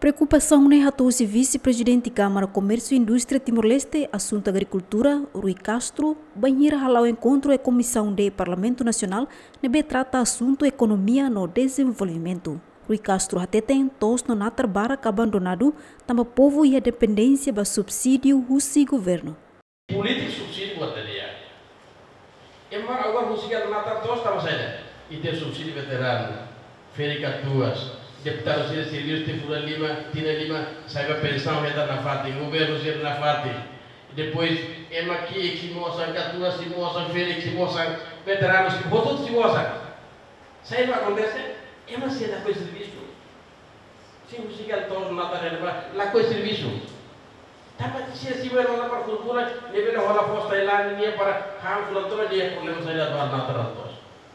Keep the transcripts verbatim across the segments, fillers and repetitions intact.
Preokupasaun ne'e hato'o husi Vise-Prezidente Kámara Komérsiu Indústria Timor-Leste, Asuntu Agrikultura, Rui Castro, bainhira hala'o enkontru iha Komisaun D Parlamentu Nasionál, ne'ebé trata asuntu ekonomia no dezenvolvimentu. Rui Castro hateten, to'os no natar barak abandonadu, tanba povu iha dependénsia ba subsídiu husi governu. Polítika subsídiu buat tadi ya. Ema agora husik natar to'os tanba saida? Ita subsídiu veteranu, ferik katuas, deputadu sira servisu tiha fulan lima, tinan lima, sai ba pensaun hetan nafatin, governu sira nafatin. Depois, ema ki'ik sei mosan, katuas sei mosan, ferik sei mosan, veteranu sei, hotu sei mosan. Saida akontese? Ema sira lakohi servisu. Sira husik to'os natar ne'ebá, lakohi servisu. Tanba sira simu ema para furfura, ne'ebé hola foos Tailándia nian para han fulan tomak, nia problema saida ba natar to'os.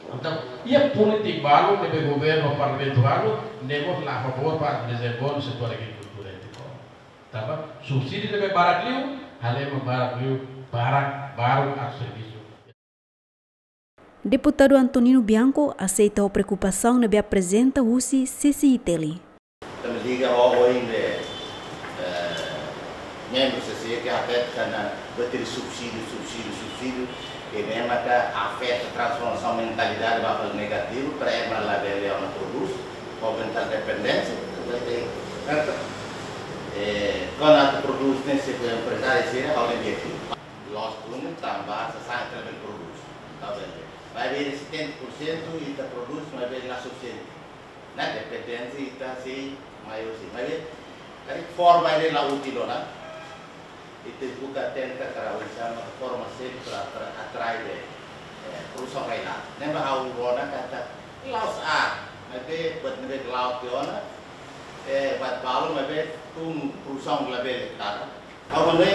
Entaun, iha polítika balu, ne'ebé governu, parlamentu balu, ne'e mós la a favór ba dezenvolve setór agrikultura iha Timor. Tanba subsídiu ne'ebé barak liu, halo ema barak liu, barak, barak atu servisu. Deputadu Antonino Bianco aseita ho preokupasaun ne'ebé aprezenta husi C C I T L. Tanba liga ho ohin ne'e, eh, membru C C I T L ke afeta ona buat ida subsídiu, subsídiu, subsídiu, ke ne'e maka afeta transformasaun mentalidade ba fali negativu, para ema labele ona prodús, aumenta dependénsia, eh, kuandu atu prodús ne'e se emprezáriu sira, ha'u lembra aqui. Loos duni tanba sasán ita labele prodús. Entaun, maibé setenta por cento ita prodús, maibé la sufisiente. Ne'e dependénsia ita sei maiór, sei. Maibé, karik forma ne'e la útil ona. Ita buka tenta kara usa forma seluk para, para atrai, eh, produsaun rai-laran. Ne'ebé ha'u rona katak la'ós, maibé buat ne'ebé la'o tiha ona, eh, buat balu maibé tun produsaun labele tara. Agora,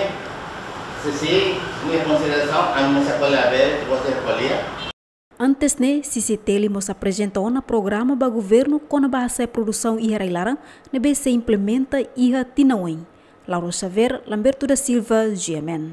C C I, minha consideração, a minha sacola aberta, você avalia. Antes ne'e, C C I T L mós aprezenta ona programa ba governu kona-ba hasa'e produsaun iha rai-laran, ne'ebé sei implementa iha tinan oin. Laura Xavier, Lamberto da Silva, G M N.